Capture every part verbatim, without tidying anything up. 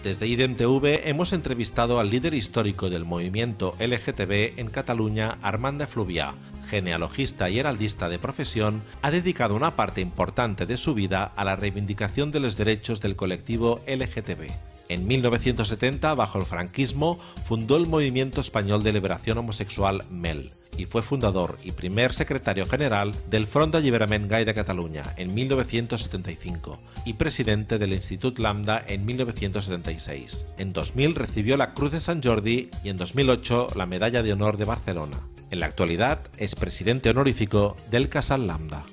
Desde I D E M T V hemos entrevistado al líder histórico del movimiento L G T B en Cataluña, Armand de Fluvià. Genealogista y heraldista de profesión, ha dedicado una parte importante de su vida a la reivindicación de los derechos del colectivo L G T B. En mil novecientos setenta, bajo el franquismo, fundó el Movimiento Español de Liberación Homosexual M E L y fue fundador y primer secretario general del Front d'Alliberament Gai de Cataluña en mil novecientos setenta y cinco y presidente del Institut Lambda en mil novecientos setenta y seis. En dos mil recibió la Cruz de Sant Jordi y en dos mil ocho la Medalla de Honor de Barcelona. En la actualidad es presidente honorífico del Casal Lambda.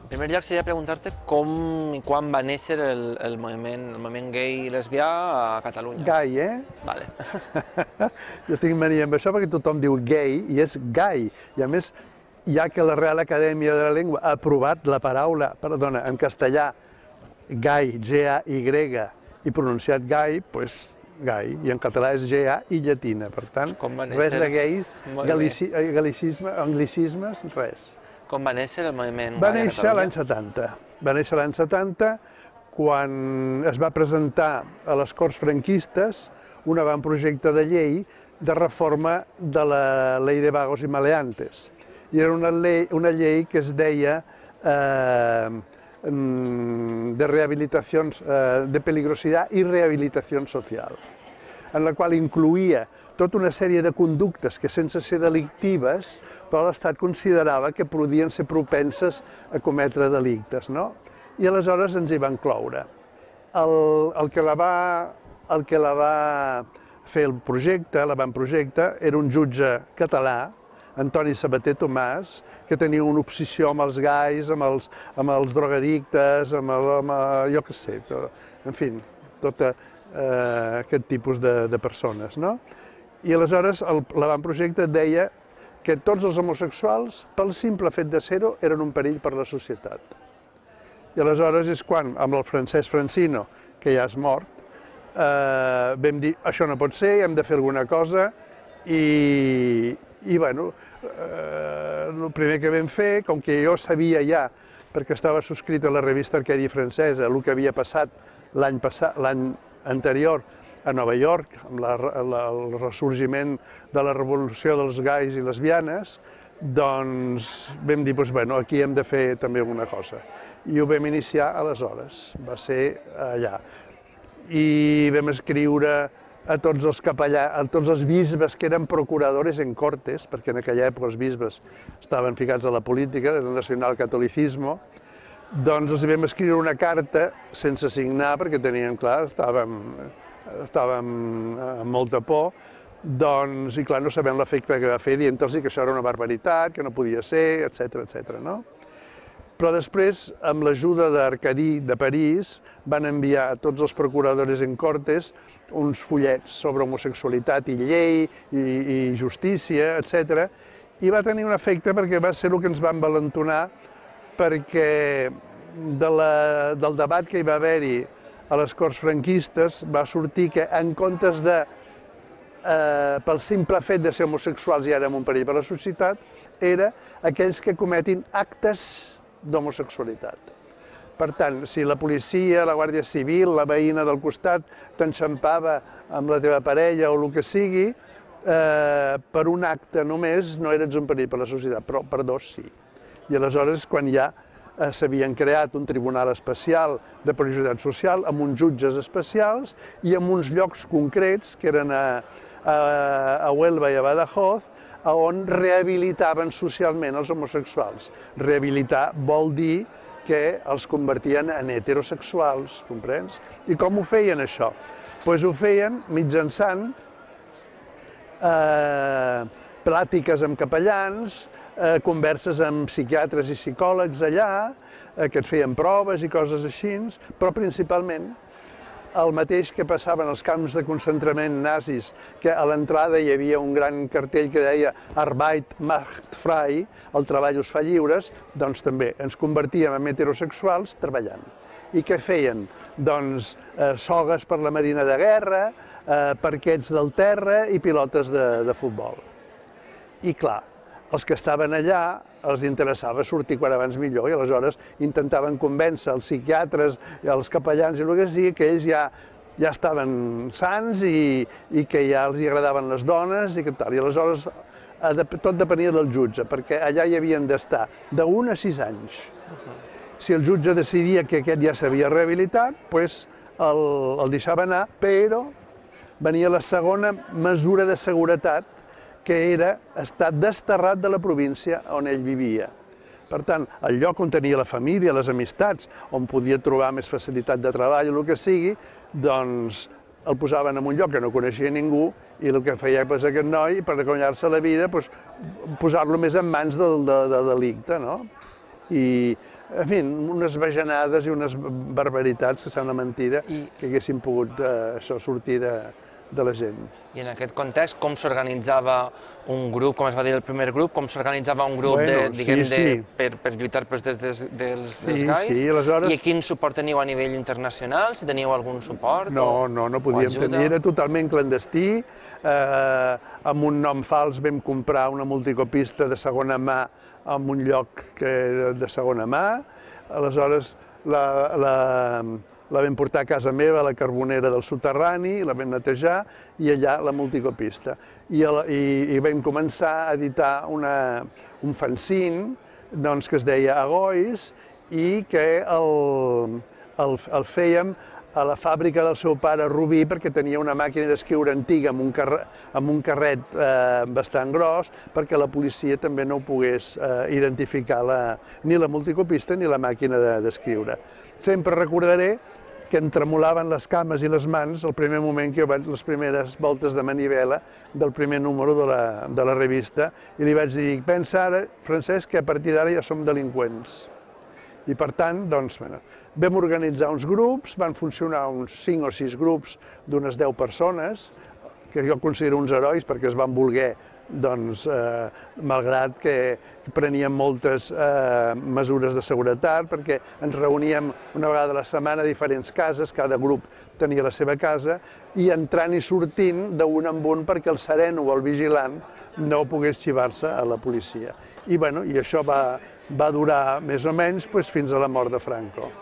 En primer lloc, seria preguntar-te com i quan va néixer el, el, moviment, el moviment gai i lesbià a Catalunya. Gai, eh? Vale. Jo tinc mania amb això perquè tothom diu gay i és gai. I a més, ja que la Real Acadèmia de la Llengua ha aprovat la paraula, perdona, en castellà, gai, G A Y, i pronunciat gai, doncs gai, i en català és G A i llatina. Per tant, res de gais, galici, galicisme, anglicismes, res. Com va néixer el moviment Va néixer l'any setanta. Va néixer l'any setanta quan es va presentar a les Corts franquistes un avantprojecte de llei de reforma de la Ley de Vagos y Maleantes. I era una llei, una llei que es deia eh, de rehabilitació, eh, de peligrosidad i rehabilitació social, en la qual incloïa tota una sèrie de conductes que, sense ser delictives, però l'Estat considerava que podien ser propenses a cometre delictes, no? I aleshores ens hi van cloure. El, el, que la va, el que la va fer el projecte, l'avantprojecte, era un jutge català, Antoni Sabater Tomàs, que tenia una obsessió amb els gais, amb els, amb els drogadictes, amb, el, amb el, jo què sé, però, en fi, tot eh, aquest tipus de, de persones, no? I aleshores l'avantprojecte deia que tots els homosexuals, pel simple fet de ser-ho, eren un perill per a la societat. I aleshores és quan, amb el Francesc Francino, que ja és mort, eh, vam dir, això no pot ser, hem de fer alguna cosa, i, i bueno, eh, el primer que vam fer, com que jo sabia ja, perquè estava subscrit a la revista Arquedi Francesa, el que havia passat l'any passat, l'any anterior, a Nova York, amb la, la, el ressorgiment de la revolució dels gais i lesbianes, doncs vam dir, doncs, bueno, aquí hem de fer també alguna cosa. I ho vam iniciar aleshores, va ser allà. I vam escriure a tots els capellans, a tots els bisbes que eren procuradores en cortes, perquè en aquella època els bisbes estaven ficats a la política, el nacionalcatolicismo, doncs els vam escriure una carta sense signar, perquè teníem, clar, estàvem... estàvem amb molta por, doncs, i clar, no sabem l'efecte que va fer dient-los que això era una barbaritat, que no podia ser, etcètera, etcètera, no? Però després, amb l'ajuda d'Arcadí de París, van enviar a tots els procuradors en cortes uns fullets sobre homosexualitat i llei i, i justícia, etcètera, i va tenir un efecte perquè va ser el que ens va envalentonar, perquè de la, del debat que hi va haver-hi a les Corts franquistes va sortir que, en comptes de, eh, pel simple fet de ser homosexuals i érem un perill per a la societat, era aquells que cometin actes d'homosexualitat. Per tant, si la policia, la Guàrdia Civil, la veïna del costat t'enxampava amb la teva parella o el que sigui, eh, per un acte només no eres un perill per a la societat, però per dos sí. I aleshores, quan ja s'havien creat un tribunal especial de periodicitat social amb uns jutges especials i amb uns llocs concrets, que eren a, a, a Huelva i a Badajoz, on rehabilitaven socialment els homosexuals. Rehabilitar vol dir que els convertien en heterosexuals, comprens? I com ho feien, això? Doncs ho feien mitjançant eh, plàtiques amb capellans, Eh, converses amb psiquiatres i psicòlegs allà, eh, que et feien proves i coses així, però principalment el mateix que passava en els camps de concentrament nazis, que a l'entrada hi havia un gran cartell que deia Arbeit macht frei, el treball us fa lliures, doncs també ens convertíem en heterosexuals treballant. I què feien? Doncs eh, sogues per la Marina de Guerra, eh, parquets del terra i pilotes de, de futbol. I clar, els que estaven allà els interessava sortir quan abans millor i aleshores intentaven convèncer els psiquiatres i els capellans i el que sigui que ells ja ja estaven sants i, i que ja els agradaven les dones i que tal. I aleshores tot depenia del jutge, perquè allà hi havien d'estar d'un a sis anys. Si el jutge decidia que aquest ja s'havia rehabilitat, doncs el, el deixava anar, però venia la segona mesura de seguretat, que era estar desterrat de la província on ell vivia. Per tant, el lloc on tenia la família, les amistats, on podia trobar més facilitat de treball o el que sigui, doncs el posaven en un lloc que no coneixia ningú i el que feia pues, aquest noi, per guanyar-se la vida, pues, posar-lo més en mans del de, de delicte, no? I, en fi, unes bajanades i unes barbaritats, que sembla mentira, I... que haguessin pogut eh, això sortir de, de la gent. I en aquest context, com s'organitzava un grup, com es va dir el primer grup, com s'organitzava un grup bueno, de, diguem, sí, sí. De, per, per lluitar pels drets dels, dels, dels sí, gais? Sí, aleshores... I quin suport teniu a nivell internacional? Si teníeu algun suport? No, o, no, no podíem tenir, era totalment clandestí. Eh, amb un nom fals vam comprar una multicopista de segona mà en un lloc que era de segona mà. Aleshores, la... la la vam portar a casa meva, a la carbonera del soterrani, la vam netejar i allà la multicopista. I, el, i, i vam començar a editar una, un fanzine doncs, que es deia Agois i que el, el, el fèiem a la fàbrica del seu pare Rubí perquè tenia una màquina d'escriure antiga amb un, carre, amb un carret eh, bastant gros perquè la policia també no pogués eh, identificar la, ni la multicopista ni la màquina d'escriure. Sempre recordaré que em tremolaven les cames i les mans el primer moment que jo vaig, les primeres voltes de manivela del primer número de la, de la revista i li vaig dir, pensa ara, Francesc, que a partir d'ara ja som delinqüents. I per tant, doncs, bueno, vam organitzar uns grups, van funcionar uns cinc o sis grups d'unes deu persones, que jo considero uns herois perquè es van voler doncs, eh, malgrat que preníem moltes eh, mesures de seguretat, perquè ens reuníem una vegada a la setmana a diferents cases, cada grup tenia la seva casa, i entrant i sortint d'un en un perquè el sereno o el vigilant no pogués xivar-se a la policia. I, bueno, i això va, va durar més o menys doncs, fins a la mort de Franco.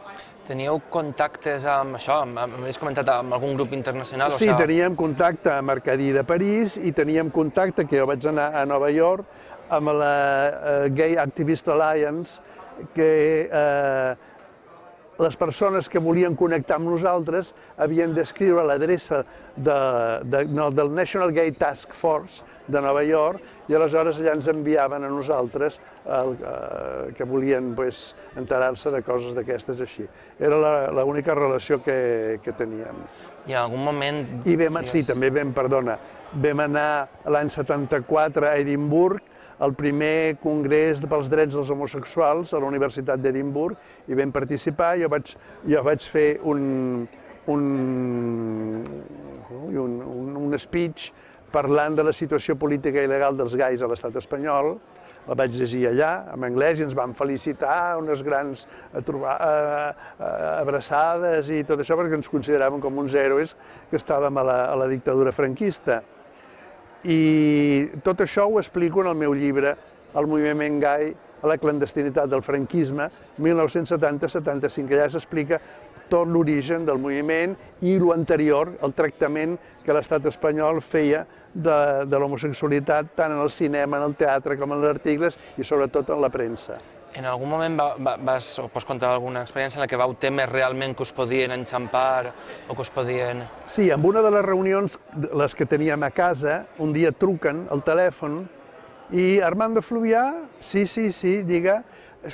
Teníeu contactes amb això? M'havies comentat amb algun grup internacional? Sí, teníem contacte amb Arcadí de París i teníem contacte, que jo vaig anar a Nova York, amb la Gay Activist Alliance, que eh, les persones que volien connectar amb nosaltres havien d'escriure l'adreça de, de, no, del National Gay Task Force de Nova York i aleshores allà ens enviaven a nosaltres el, eh, que volien pues, enterar-se de coses d'aquestes així. Era l'única relació que, que teníem. I en algun moment... I vam, sí, també vam, perdona, vam anar l'any setanta-quatre a Edimburg al primer congrés pels drets dels homosexuals a la Universitat d'Edimburg i vam participar. Jo vaig, jo vaig fer un, un, un, un, un speech parlant de la situació política i legal dels gais a l'estat espanyol. La vaig llegir allà, en anglès, i ens van felicitar, unes grans abraçades i tot això, perquè ens consideraven com uns héroes que estàvem a la, a la dictadura franquista. I tot això ho explico en el meu llibre, El moviment gai a la clandestinitat del franquisme, mil nou-cents setanta setanta-cinc. Allà s'explica tot l'origen del moviment i l'anterior, el tractament que l'estat espanyol feia de, de l'homosexualitat tant en el cinema, en el teatre, com en els articles i sobretot en la premsa. En algun moment va, va, vas, o pots contar alguna experiència en la que vau temer realment que us podien enxampar o que us podien... Sí, en una de les reunions, les que teníem a casa, un dia truquen al telèfon i Armando Fluvià, sí, sí, sí, diga,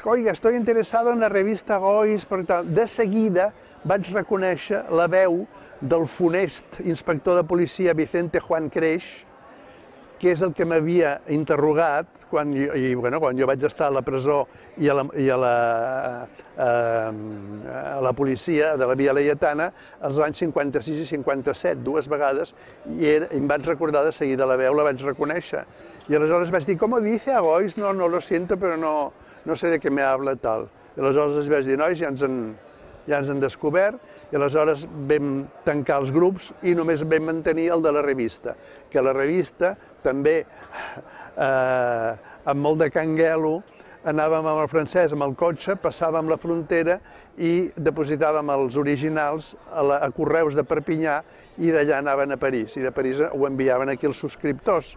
oiga, estoy interesado en la revista Gois, per tal. De seguida vaig reconèixer la veu del funest inspector de policia Vicente Juan Creix, que és el que m'havia interrogat quan jo, i, bueno, quan jo vaig estar a la presó i a la, i a la, a, a la policia de la Via Laietana als anys cinquanta-sis i cinquanta-set, dues vegades, i, era, i em vaig recordar de seguida la veu, la vaig reconèixer. I aleshores vaig dir, com dice Agois? No, no lo siento, però no, no sé de què me habla tal. I aleshores els vaig dir, nois, ja ens han, ja ens han descobert, i aleshores vam tancar els grups i només vam mantenir el de la revista, que la revista també, eh, amb molt de canguelo, anàvem amb el francès, amb el cotxe, passàvem la frontera i depositàvem els originals a, la, a Correus de Perpinyà i d'allà anaven a París, i de París ho enviaven aquí els subscriptors.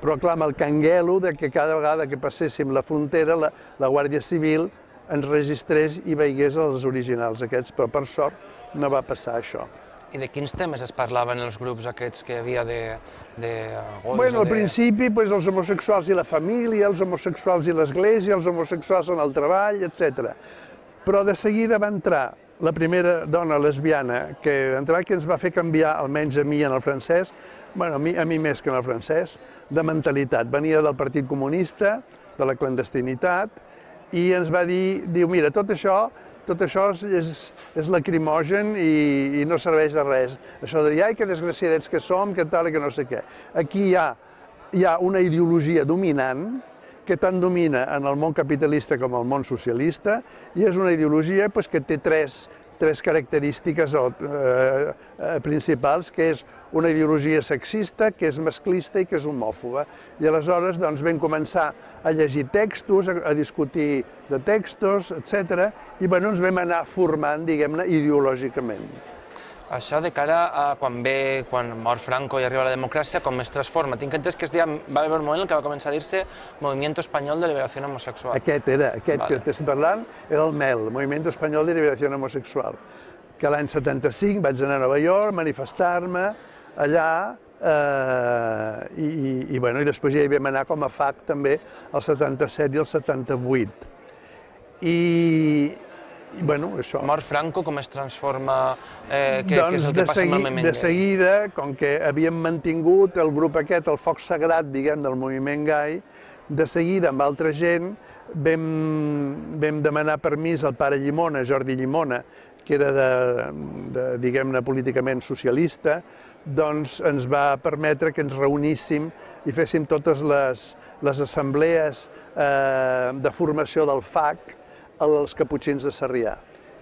Però clar, amb el canguelo de que cada vegada que passéssim la frontera, la, la Guàrdia Civil ens registrés i veigués els originals aquests, però per sort no va passar això. I de quins temes es parlaven els grups aquests que hi havia de, de gols? Bueno, al de... principi, pues, els homosexuals i la família, els homosexuals i l'església, els homosexuals en el treball, etcètera. Però de seguida va entrar la primera dona lesbiana que entrar, que ens va fer canviar, almenys a mi en el francès, bueno, a mi, a mi més que en el francès, de mentalitat. Venia del Partit Comunista, de la clandestinitat, i ens va dir, diu, mira, tot això tot això és, és lacrimogen i, i no serveix de res. Això de dir, ai, que desgraciadets que som, que tal i que no sé què. Aquí hi ha, hi ha una ideologia dominant que tant domina en el món capitalista com el món socialista, i és una ideologia pues, que té tres, tres característiques eh, principals, que és una ideologia sexista, que és masclista i que és homòfoba. I aleshores doncs, vam començar a llegir textos, a, a discutir de textos, etcètera, i bueno, ens vam anar formant, diguem-ne, ideològicament. Això de cara a quan ve, quan mor Franco i arriba la democràcia, com es transforma? Tinc entès que es deia, va haver un moment en què va començar a dir-se Movimiento Español de Liberación Homosexual. Aquest era, aquest vale. que estem parlant, era el MEL, Movimiento Español de Liberación Homosexual, que l'any setanta-cinc vaig anar a Nova York, manifestar-me allà, eh, i, i, i, bueno, i després ja hi vam anar com a F A C també el setanta-set i el setanta-vuit. I, i bueno, això... Mor Franco, com es transforma? Eh, què, doncs què és el que passa amb el moviment de seguida, com que havíem mantingut el grup aquest, el foc sagrat, diguem, del moviment gai, de seguida amb altra gent vam, vam demanar permís al pare Llimona, Jordi Llimona, que era de, de diguem-ne, políticament socialista, doncs ens va permetre que ens reuníssim i féssim totes les, les assemblees eh, de formació del F A C als Caputxins de Sarrià.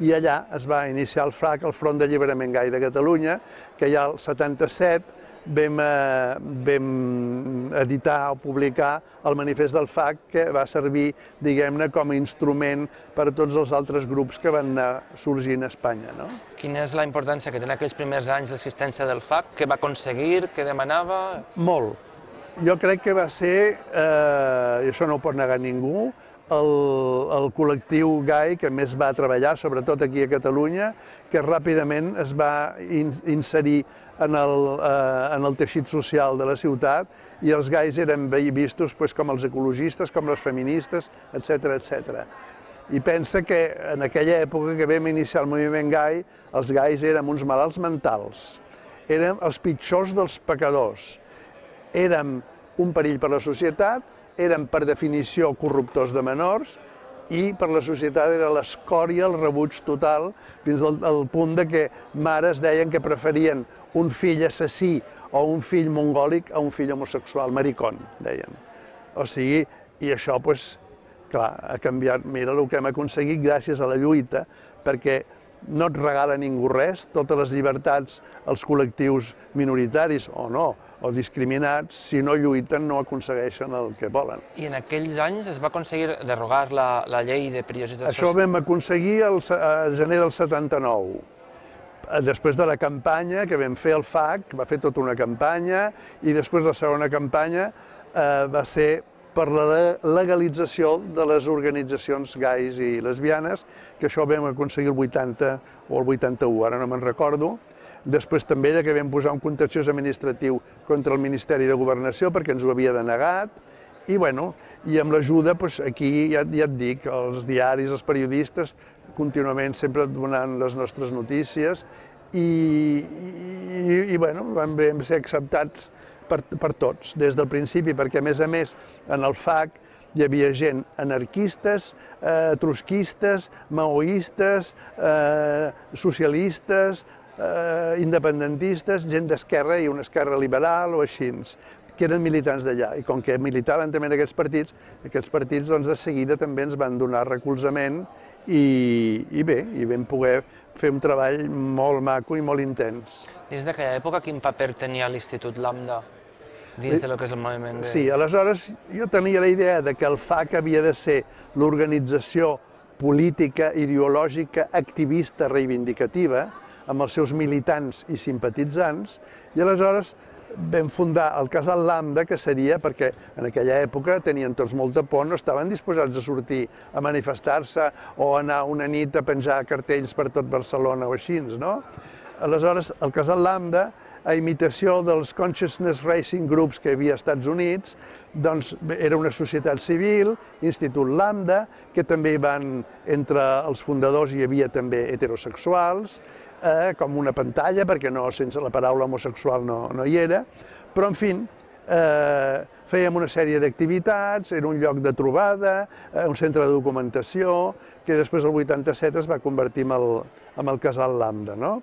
I allà es va iniciar el F A C, el Front d'Alliberament Gai de Catalunya, que ja al setanta-set vam, eh, vam editar o publicar el manifest del F A C, que va servir, diguem-ne, com a instrument per a tots els altres grups que van anar sorgint a Espanya. No? Quina és la importància que té en aquells primers anys l'existència del F A C? Què va aconseguir? Què demanava? Molt. Jo crec que va ser, eh, i això no ho pot negar ningú, el, el col·lectiu gai que més va treballar, sobretot aquí a Catalunya, que ràpidament es va in, inserir en el, eh, en el teixit social de la ciutat, i els gais eren vistos pues, com els ecologistes, com les feministes, etcètera, etcètera. I pensa que en aquella època que vam iniciar el moviment gai, els gais érem uns malalts mentals, érem els pitjors dels pecadors, érem un perill per la societat, érem per definició corruptors de menors, i per la societat era l'escòria, el rebuig total, fins al, al punt de que mares deien que preferien un fill assassí o un fill mongòlic a un fill homosexual, maricón, deien. O sigui, i això, doncs, clar, ha canviat. Mira el que hem aconseguit gràcies a la lluita, perquè no et regala ningú res, totes les llibertats als col·lectius minoritaris, o no, o discriminats, si no lluiten no aconsegueixen el que volen. I en aquells anys es va aconseguir derogar la, la llei de perillositat social? Això ho vam aconseguir el gener del setanta-nou. Després de la campanya que vam fer el F A C, va fer tota una campanya, i després la segona campanya eh, va ser per la legalització de les organitzacions gais i lesbianes, que això ho vam aconseguir el vuitanta o el vuitanta-u, ara no me'n recordo. Després també que vam posar un contenciós administratiu contra el Ministeri de Governació perquè ens ho havia denegat, i, bueno, i amb l'ajuda, doncs, aquí ja, ja et dic, els diaris, els periodistes, contínuament sempre donant les nostres notícies, i, i, i bueno, vam, vam ser acceptats per, per tots, des del principi, perquè a més a més en el F A C hi havia gent anarquistes, eh, trotskistes, maoistes, eh, socialistes, eh, independentistes, gent d'esquerra i una esquerra liberal o així, que eren militants d'allà. I com que militaven també en aquests partits, aquests partits doncs, de seguida també ens van donar recolzament i, i bé, i vam poder fer un treball molt maco i molt intens. Dins d'aquella època, quin paper tenia l'Institut Lambda? Dins de lo que és el moviment gai. Sí, aleshores jo tenia la idea de que el F A C havia de ser l'organització política, ideològica, activista, reivindicativa, amb els seus militants i simpatitzants, i aleshores vam fundar el Casal Lambda, que seria perquè en aquella època tenien tots molta por, no estaven disposats a sortir a manifestar-se o anar una nit a penjar cartells per tot Barcelona o així, no? Aleshores, el Casal Lambda, a imitació dels Consciousness Racing Groups que hi havia als Estats Units, doncs era una societat civil, Institut Lambda, que també hi van, entre els fundadors hi havia també heterosexuals, eh, com una pantalla, perquè no, sense la paraula homosexual no, no hi era, però en fi, eh, fèiem una sèrie d'activitats, era un lloc de trobada, eh, un centre de documentació, que després el vuitanta-set es va convertir en el, en el Casal Lambda, no?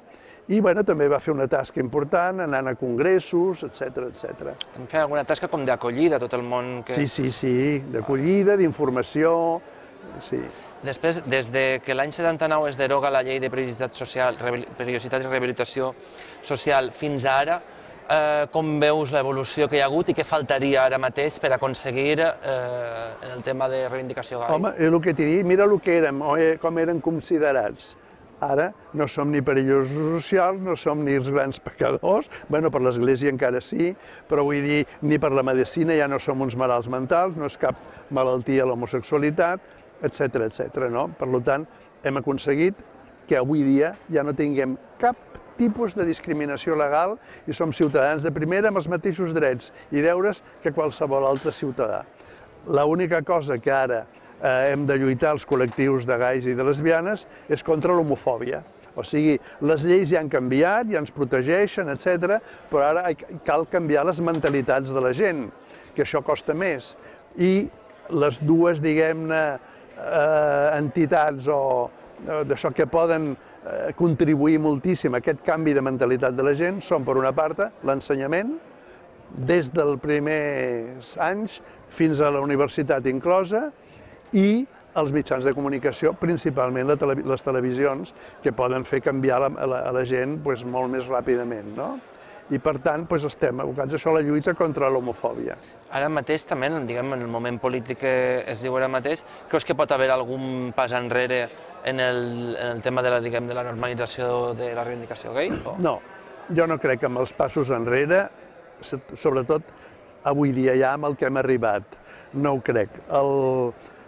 I bueno, també va fer una tasca important, anant a congressos, etcètera, etcètera. També feia alguna tasca com d'acollida a tot el món que... Sí, sí, sí, d'acollida, d'informació, sí. Després, des de que l'any setanta-nou es deroga la llei de periodicitat social, periodicitat i rehabilitació social fins ara, eh, com veus l'evolució que hi ha hagut i què faltaria ara mateix per aconseguir eh, en el tema de reivindicació gai? Home, el que t'he dit, mira el que érem, com eren considerats. Ara no som ni perillosos socials, no som ni els grans pecadors, bueno, per l'Església encara sí, però vull dir, ni per la medicina ja no som uns malalts mentals, no és cap malaltia l'homosexualitat, etcètera, etcètera, no? Per tant, hem aconseguit que avui dia ja no tinguem cap tipus de discriminació legal i som ciutadans de primera amb els mateixos drets i deures que qualsevol altre ciutadà. L'única cosa que ara eh, hem de lluitar els col·lectius de gais i de lesbianes és contra l'homofòbia. O sigui, les lleis ja han canviat, ja ens protegeixen, etcètera, però ara cal canviar les mentalitats de la gent, que això costa més. I les dues, diguem-ne, eh, entitats o eh, d'això que poden eh, contribuir moltíssim a aquest canvi de mentalitat de la gent són, per una part, l'ensenyament, des dels primers anys fins a la universitat inclosa, i els mitjans de comunicació, principalment les televisions, que poden fer canviar a la gent molt més ràpidament, no? I per tant estem abocats a això, la lluita contra l'homofòbia. Ara mateix també, diguem, en el moment polític que es diu ara mateix, creus que pot haver algun pas enrere en el tema de la normalització de la reivindicació gai? No, jo no crec que amb els passos enrere, sobretot avui dia ja amb el que hem arribat, no ho crec.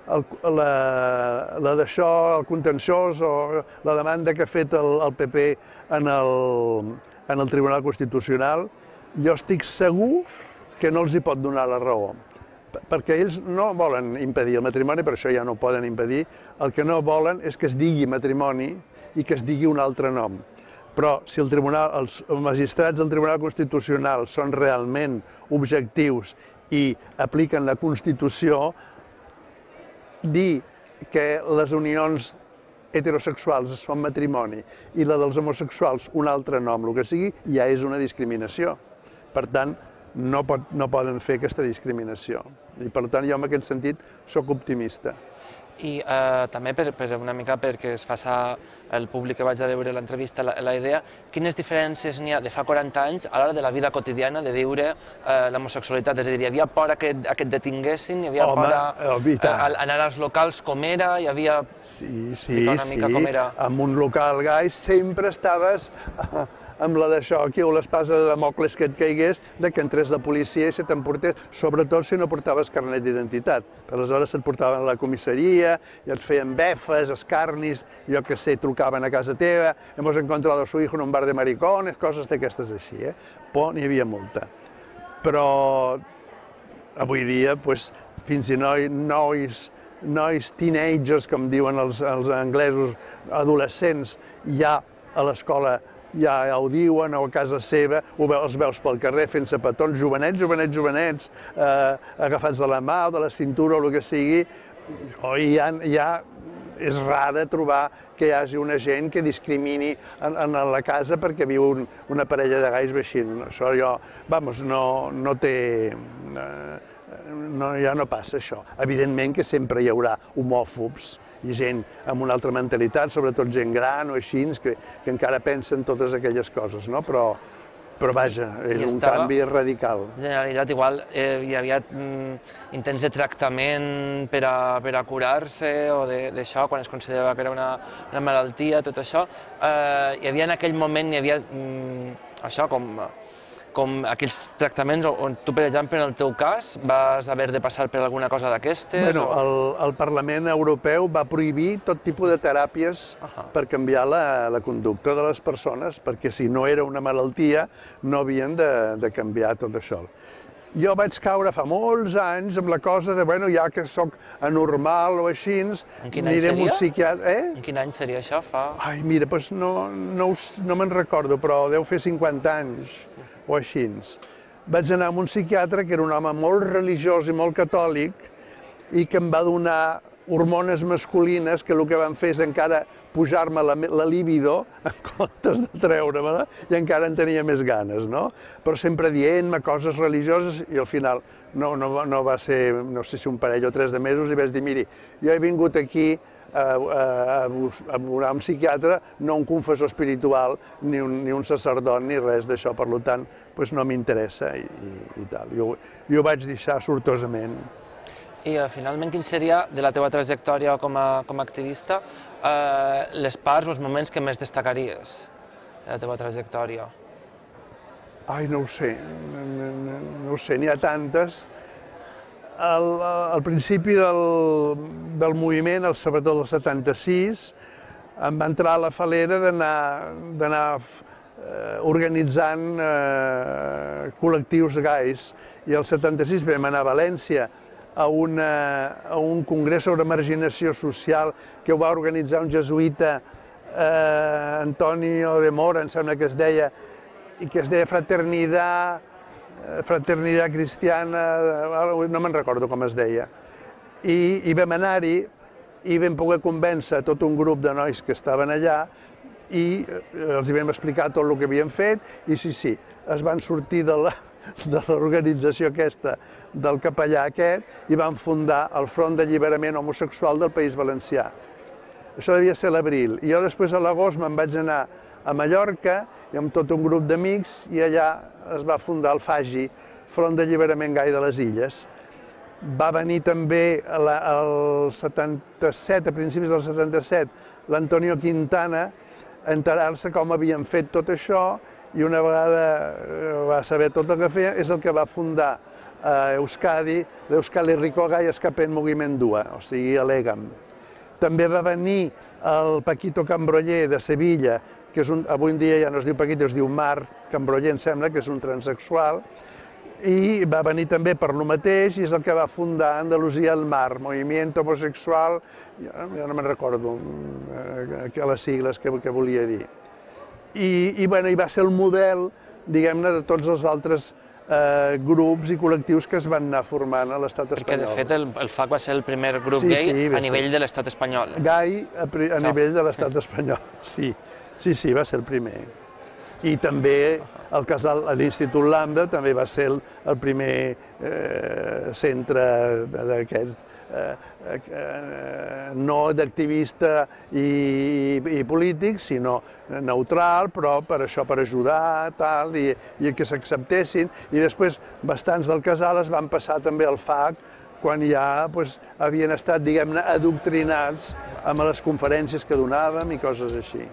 La d'això, el contenciós o la demanda que ha fet el P P en el Tribunal Constitucional, jo estic segur que no els hi pot donar la raó, perquè ells no volen impedir el matrimoni, per això ja no ho poden impedir, el que no volen és que es digui matrimoni i que es digui un altre nom. Però si els magistrats del Tribunal Constitucional són realment objectius i apliquen la Constitució, dir que les unions heterosexuals es fan matrimoni i la dels homosexuals un altre nom, el que sigui, ja és una discriminació. Per tant, no poden fer aquesta discriminació. I per tant, jo en aquest sentit soc optimista. I també una mica perquè es faci el públic que vaig a veure l'entrevista la idea, quines diferències n'hi ha de fa quaranta anys a l'hora de la vida quotidiana de viure l'homosexualitat? És a dir, hi havia por que et detinguessin, hi havia por a anar als locals com era, hi havia... Sí, sí, sí, en un local gai sempre estaves amb la d'això, aquí, o l'espasa de Damocles que et caigués, que entrés la policia i se t'emportés, sobretot si no portaves carnet d'identitat. Aleshores se't portaven a la comissaria i et feien befes, escarnis, jo que sé, trucaven a casa teva, hemos encontrado a su hijo en un bar de maricones, coses d'aquestes així, eh? Por n'hi havia molta. Però avui dia, fins i nois, nois teenagers, com diuen els anglesos, adolescents, ja a l'escola ja ho diuen, o a casa seva, els veus pel carrer fent-se petons, jovenets, jovenets, jovenets, agafats de la mà o de la cintura o el que sigui, i ja és rara trobar que hi hagi una gent que discrimini en la casa perquè viu una parella de gais veixint. Això jo, vamos, no té... ja no passa això. Evidentment que sempre hi haurà homòfobs i gent amb una altra mentalitat, sobretot gent gran o així, que encara pensen totes aquelles coses, no? Però però vaja, és un canvi radical. Generalitzat, igual eh, hi havia mm, intents de tractament per a, per a curar-se o d'això, quan es considerava que era una, una malaltia, tot això. Eh, hi havia en aquell moment, hi havia mm, això, com, com aquells tractaments on tu, per exemple, en el teu cas, vas haver de passar per alguna cosa d'aquestes? Bueno, o... el, el Parlament Europeu va prohibir tot tipus de teràpies uh-huh. per canviar la, la conducta de les persones, perquè si no era una malaltia no havien de, de canviar tot això. Jo vaig caure fa molts anys amb la cosa de, bueno, ja que sóc anormal o així, aniré amb un psiquiatre... Eh? En quin any seria això? Fa... Ai, mira, doncs no, no, no me'n recordo, però deu fer cinquanta anys o així. Vaig anar amb un psiquiatre que era un home molt religiós i molt catòlic i que em va donar hormones masculines que el que van fer és encara pujar-me la, la libido en comptes de treure-me-la i encara en tenia més ganes, no? Però sempre dient-me coses religioses i al final no, no, no va ser, no sé si un parell o tres de mesos i vaig dir, miri, jo he vingut aquí a, a, a veure un psiquiatre, no un confessor espiritual, ni un, ni un sacerdot, ni res d'això, per tant, doncs no m'interessa i, i, i tal. Jo, jo vaig deixar sortosament. I uh, finalment, quin seria, de la teva trajectòria com a, com a activista, uh, les parts o els moments que més destacaries de la teva trajectòria? Ai, no ho sé, no, no, no ho sé, n'hi ha tantes. Al, al principi del, del moviment, sobretot el setanta-sis, em va entrar a la falera d'anar eh, organitzant eh, col·lectius gais. I el setanta-sis vam anar a València, a, una, a un congrés sobre marginació social que ho va organitzar un jesuïta, eh, Antonio de Mora, em sembla que es deia, i que es deia Fraternidad, Fraternidad Cristiana, no me'n recordo com es deia. I, i vam anar-hi i vam poder convèncer tot un grup de nois que estaven allà i els vam explicar tot el que havien fet i sí, sí, es van sortir de la de l'organització aquesta, del capellà aquest, i van fundar el Front d'Alliberament Homosexual del País Valencià. Això devia ser l'abril. I jo després a l'agost me'n vaig anar a Mallorca i amb tot un grup d'amics i allà es va fundar el FAGI, Front d'Alliberament Gai de les Illes. Va venir també al setanta-set, a principis del setanta-set, l'Antonio Quintana a enterar-se com havien fet tot això i una vegada va saber tot el que feia, és el que va fundar a Euskadi l'Euskal Herriko Gai Escapen Mugimendua, o sigui, l'EGAM. També va venir el Paquito Cambroller de Sevilla, que és un, avui en dia ja no es diu Paquito, es diu Marc Cambroller, em sembla, que és un transexual, i va venir també per lo mateix i és el que va fundar Andalusia al Mar, Movimiento Homosexual, ja no me'n recordo les sigles que, que volia dir. I, i, bueno, i va ser el model, diguem-ne, de tots els altres eh, grups i col·lectius que es van anar formant a l'estat espanyol. Perquè, de fet, el, el FAC va ser el primer grup sí, gai sí, a nivell de l'estat espanyol. Gai a, a nivell de l'estat espanyol, sí. Sí, sí, va ser el primer. I també el casal, l'Institut Lambda també va ser el, el primer eh, centre d'aquests Eh, eh, no d'activista i, i polític, sinó neutral, però per això, per ajudar, tal, i, i que s'acceptessin. I després bastants del casal es van passar també al FAC quan ja pues, havien estat, diguem-ne, adoctrinats amb les conferències que donàvem i coses així.